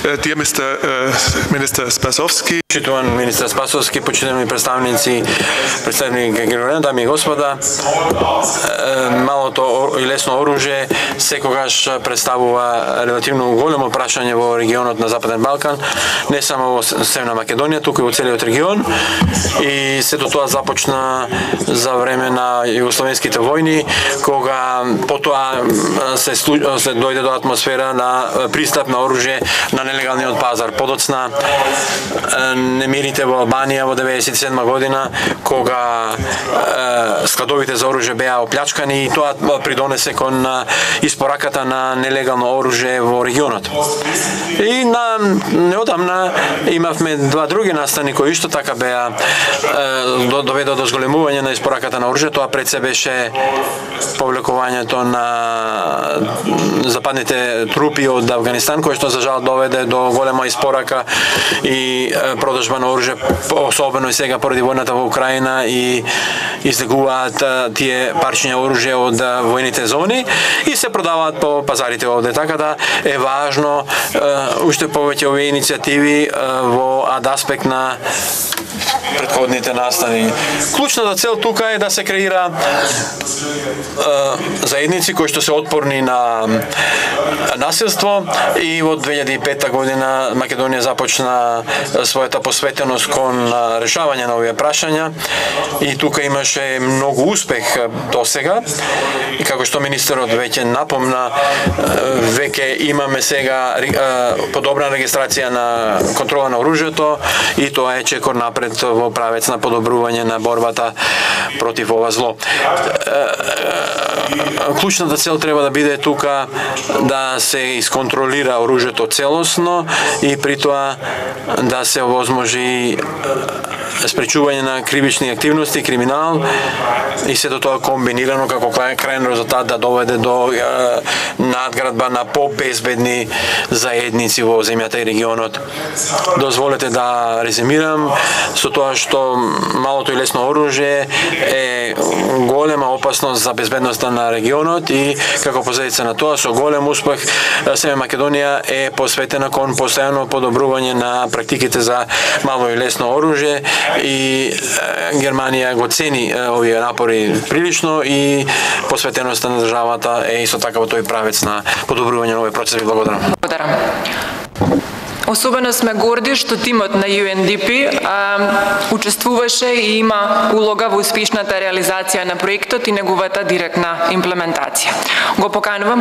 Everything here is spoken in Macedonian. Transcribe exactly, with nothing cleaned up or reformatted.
Dear Mister uh, Minister Spasovski. Почитуван министер Спасовски, почитувани представници, представници генерални, дами и господа, малото и лесно оружје секогаш представува релативно големо прашање во регионот на Западен Балкан, не само во Северна Македонија, туку и во целиот регион. И сето тоа започна за време на југословенските војни, кога потоа се, се дојде до атмосфера на пристап на оружје на нелегалниот пазар. Подоцна немирите во Албанија во деветдесет и седма година, кога е, складовите за оружје беа оплячкани, и тоа придонесе кон испораката на нелегално оружје во регионот. И на неодамна имавме два други настани кои исто така беа е, доведоа до зголемување на испораката на оружје. Тоа пред се беше повлекувањето на западните трупи од Авганистан, кој што за жал доведе до голема испорака и продажба на оружје, особено и сега поради војната во Украина, и излегуваат тие парчиња оружје од војните зони и се продаваат по пазарите овде. Така да е важно уште повеќе овие иницијативи во аспект на претходните настани. Клучната цел тука е да се креира е, заедници кои што се отпорни на насилство, и во две илјади и пета година Македонија започна својата посветеност кон решавање на овие прашања, и тука имаше многу успех досега. И како што министерот веќе напомна, веќе имаме сега подобрана регистрација на контрола на оружјето, и тоа е чекор напред во правец на подобрување на борбата против ова зло. Клучната цел треба да биде тука да се исконтролира оружјето целосно и при тоа да се овозможи спречување на кривични активности, криминал, и сето тоа комбинирано како крајен резултат да доведе до е, надградба на побезбедни заедници во земјата и регионот. Дозволете да резимирам со тоа што малото и лесно оружје е голема опасност за безбедноста на регионот, и како последица на тоа со голем успех Северна Македонија е посветена кон постојано подобрување на практиките за мало и лесно оружје, и Германија го цени овие напори прилично, и посветеноста на државата е исто така во тој правец на подобрување на овој процес. Благодарам. Благодарам. Особено сме горди што тимот на Ю Ен Ди Пи а, учествуваше и има улога во успешната реализација на проектот и неговата директна имплементација. Го поканувам